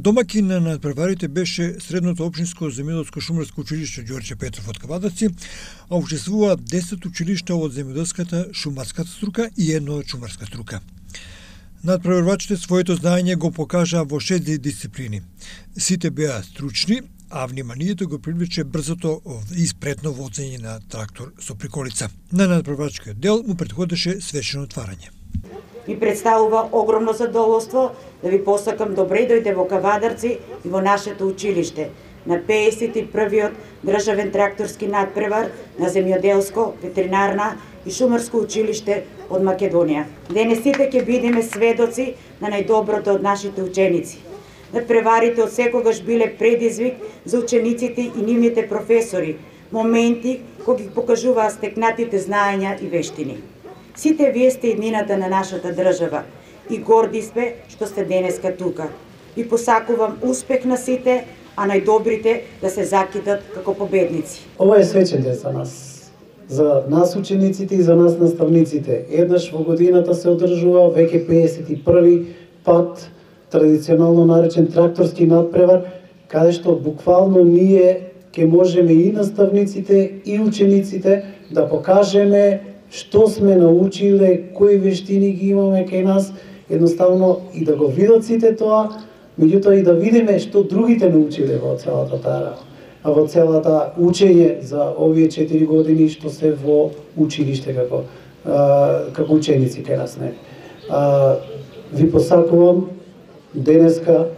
Домаќин на надпреварите беше Средното општинско земјоделско шумарско училиште Ѓорче Петров од Кавадаци, а учествуваат 10 училишта од земјоделската шумарската струка и едно од шумарска струка. Надпреварвачите своето знаење го покажаа во 6 дисциплини. Сите беа стручни, а вниманието го привлече брзото и спретно возење на трактор со приколица. На надпреварвачкиот дел му претходеше свечено отварање. Ми представува огромно задоволство да ви посакам добре дојде во Кавадарци и во нашето училиште на 51-виот државен тракторски надпревар на земјоделско, ветеринарна и шумарско училиште од Македонија. Денес сите ќе бидеме сведоци на најдоброто од нашите ученици. Надпреварите од секогаш биле предизвик за учениците и нивните професори, моменти кои ги покажуваа стекнатите знаења и вештини. Сите вие сте иднината на нашата држава и горди сме што сте денеска тука. И посакувам успех на сите, а најдобрите да се закидат како победници. Ова е свечен ден за нас учениците и за нас наставниците. Еднаш во годината се одржува веќе 51-ви пат традиционално наречен тракторски надпревар, каде што буквално ние ќе можеме и наставниците и учениците да покажеме што сме научиле, кои вештини ги имаме кај нас, едноставно и да го видат сите тоа, меѓутоа и да видиме што другите научиле во целата таа, во целата учење за овие 4 години што се во училиште како ученици кај нас. Ви посакувам денеска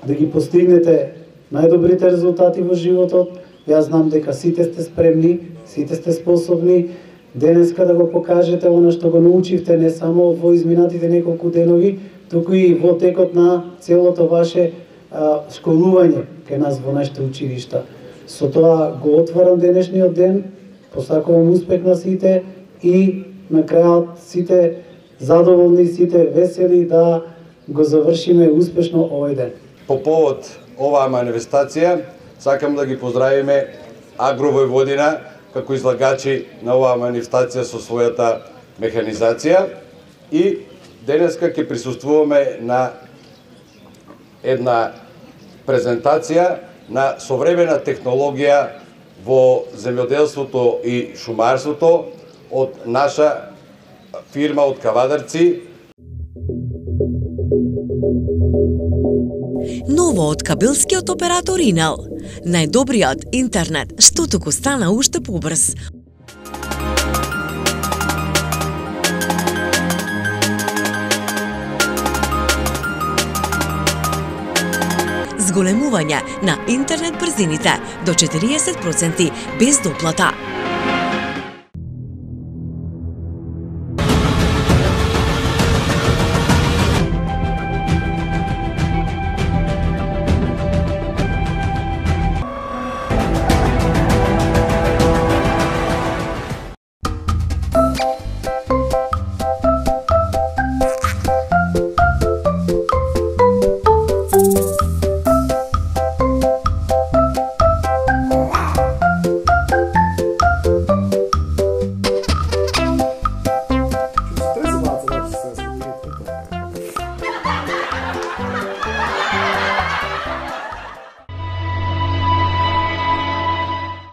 да ги постигнете најдобрите резултати во животот. Јас знам дека сите сте спремни, сите сте способни денеска да го покажете она што го научивте не само во изминатите неколку денови, туку и во текот на целото ваше школување кај нас во нашите училишта. Со тоа го отварам денешниот ден, посакувам успех на сите и на крајот сите задоволни, сите весели да го завршиме успешно овој ден. По повод оваа манифестација, сакам да ги поздравиме Агровојводина како излагачи на оваа манифестација со својата механизација и денеска ќе присуствуваме на една презентација на современа технологија во земјоделството и шумарството од наша фирма од Кавадарци. Ново од кабелскиот оператор Инел. Најдобриот интернет, што туку стана уште побрз. Зголемување на интернет брзините до 40% без доплата.